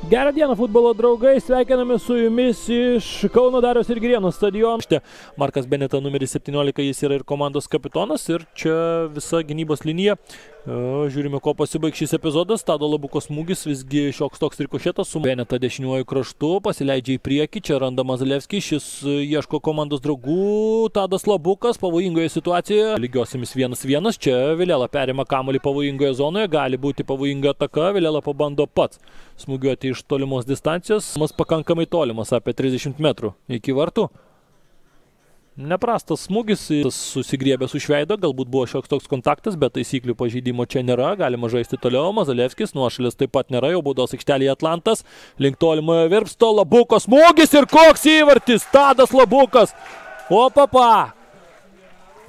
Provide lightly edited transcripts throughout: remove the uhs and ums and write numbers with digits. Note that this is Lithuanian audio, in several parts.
Gerą dieną, futbolo draugai, sveikiname su jumis iš Kauno Dariaus ir Girėno stadiono. Markas Beneta numeris 17, jis yra ir komandos kapitonas ir čia visa gynybos linija. Žiūrime, ko pasibaigs šis epizodas. Tado Labuko smūgis, visgi šioks toks rikošėtas su Beneta dešiniuoju kraštu, pasileidžia į priekį, čia randa Mazalevskį, šis ieško komandos draugų. Tadas Labukas pavojingoje situacijoje, lygiosiamis 1-1, čia Vilela perima kamuolį pavojingoje zonoje, gali būti pavojinga ataka, Vilela pabando pats smūgiuoti iš tolimos distancijos, mas pakankamai tolimas, apie 30 metrų iki vartų. Neprastas smūgis, susigriebęs už veido, galbūt buvo šioks toks kontaktas, bet taisyklių pažeidimo čia nėra, galima žaisti toliau. Mazalevskis, nuošalės taip pat nėra, jau baudos aikštelėje Atlantas, link tolimojo virpsto, Labuko smūgis ir koks įvartis, Tadas Labukas, opapa!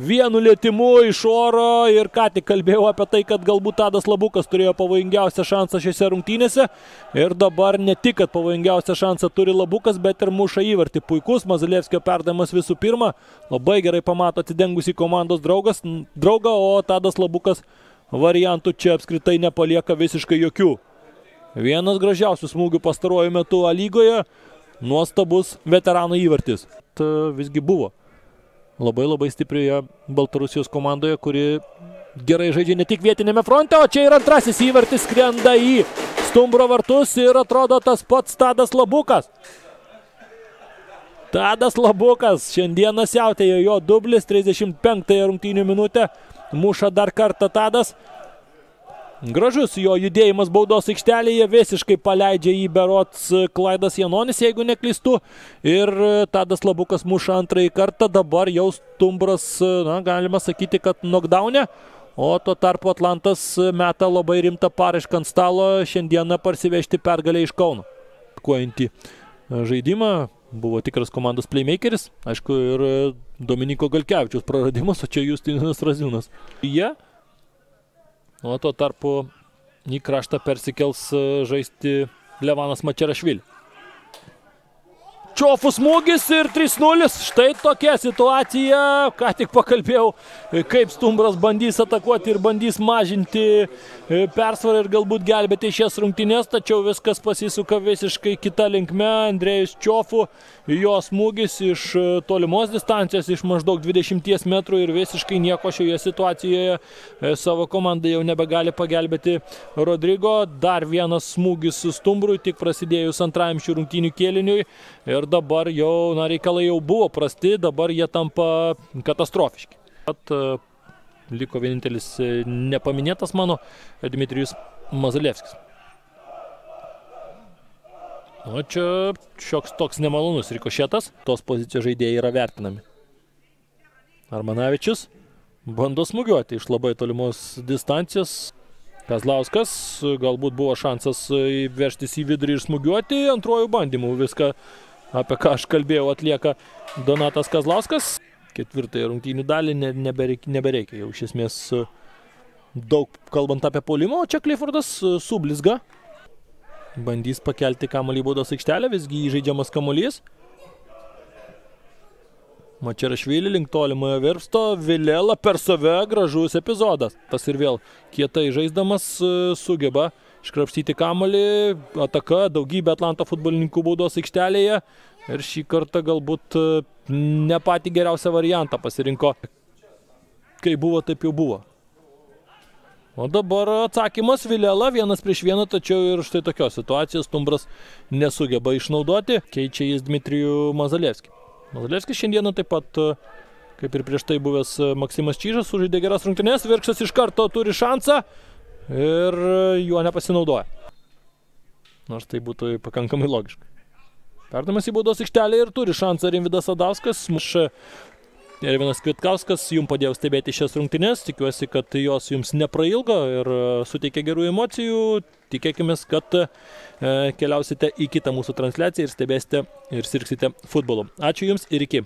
Vienu lietimu iš oro ir ką tik kalbėjau apie tai, kad galbūt Tadas Labukas turėjo pavojingiausią šansą šiose rungtynėse ir dabar ne tik, kad pavojingiausią šansą turi Labukas, bet ir muša įvartį. Puikus Mazalevskio perdavimas visų pirma, labai gerai pamato atidengusį komandos draugą, o Tadas Labukas variantų čia apskritai nepalieka visiškai jokių. Vienas gražiausių smūgių pastaruoju metu A lygoje, nuostabus veterano įvartis. Visgi buvo labai stiprioje Baltarusijos komandoje, kuri gerai žaidžia ne tik vietinėme fronte, o čia ir antrasis įvartis skrenda į stumbro vartus ir atrodo tas pats Tadas Labukas. Tadas Labukas šiandieną siautėjo, jo dublis, 35 rungtynių minutę, muša dar kartą Tadas. Gražus jo judėjimas baudos aikštelėje, visiškai paleidžia jį berods Klaidas Janonis, jeigu neklystu. Ir Tadas Labukas muša antrąjį kartą, dabar jau stumbras, galima sakyti, kad knockdown'e. O tuo tarpu Atlantas meta labai rimtą paraišką ant stalo, šiandieną parsivežti pergalę iš Kauno. Kuojantį žaidimą, buvo tikras komandos playmakeris, aišku, ir Dominiko Galkevičiaus praradimas, o čia Justinas Raziūnas. O tuo tarpu į kraštą persikels žaisti Levanas Mačerašvili. Čiofų smūgis ir 3-0. Štai tokia situacija. Ką tik pakalbėjau, kaip stumbras bandys atakuoti ir bandys mažinti persvarą ir galbūt gelbėti šias rungtynes, tačiau viskas pasisuka visiškai kita linkme. Andrėjus Čiofų, jo smūgis iš tolimos distancijos, iš maždaug 20 metrų ir visiškai nieko šioje situacijoje savo komandai jau nebegali pagelbėti Rodrigo. Dar vienas smūgis stumbrui, tik prasidėjus antrajam šių rungtynių kėliniui. Ir dabar jau, reikalai jau buvo prasti, dabar jie tampa katastrofiški. Liko vienintelis nepaminėtas mano Dmitrijus Mazalevskis. O čia šioks toks nemalonus rikošėtas, tos pozicijos žaidėjai yra vertinami. Armanavičius bando smūgiuoti iš labai tolimos distancijos. Kazlauskas, galbūt buvo šansas veržtis į vidurį ir smūgiuoti, antrojų bandymų viską, apie ką aš kalbėjau, atlieka Donatas Kazlauskas. Ketvirtąją rungtynių dalį nebereikia jau iš esmės daug kalbant apie puolimą, o čia Cliffordas sublizga. Bandys pakelti kamuolį į baudos aikštelę, visgi įžaidžiamas kamuolys. Mačerašvili link tolimojo virpsto, Vilela per save, gražus epizodas. Tas ir vėl kietai žaisdamas sugeba iškrapštyti kamuolį, ataka, daugybė Atlanto futbolininkų baudos aikštelėje ir šį kartą galbūt ne patį geriausią variantą pasirinko. Kai buvo, taip jau buvo. O dabar atsakymas Vilela, 1-1, tačiau ir štai tokios situacijos stumbras nesugeba išnaudoti, keičia jis Dmitrijų Mazalevskį. Mazalevskis šiandieną taip pat, kaip ir prieš tai buvęs Maksimas Čyžas, sužaidė geras rungtynes, Virkštas iš karto turi šansą ir juo nepasinaudoja. Nors tai būtų pakankamai logiška. Perdavimas į baudos aikštelę ir turi šansą Rimvydas Sadauskas. Ervinas Kvitkauskas jums padėjo stebėti šias rungtynes. Tikiuosi, kad jos jums neprailgo ir suteikia gerų emocijų. Tikėkime, kad keliausite į kitą mūsų transliaciją ir stebėsite ir sirgsite futbolu. Ačiū jums ir iki.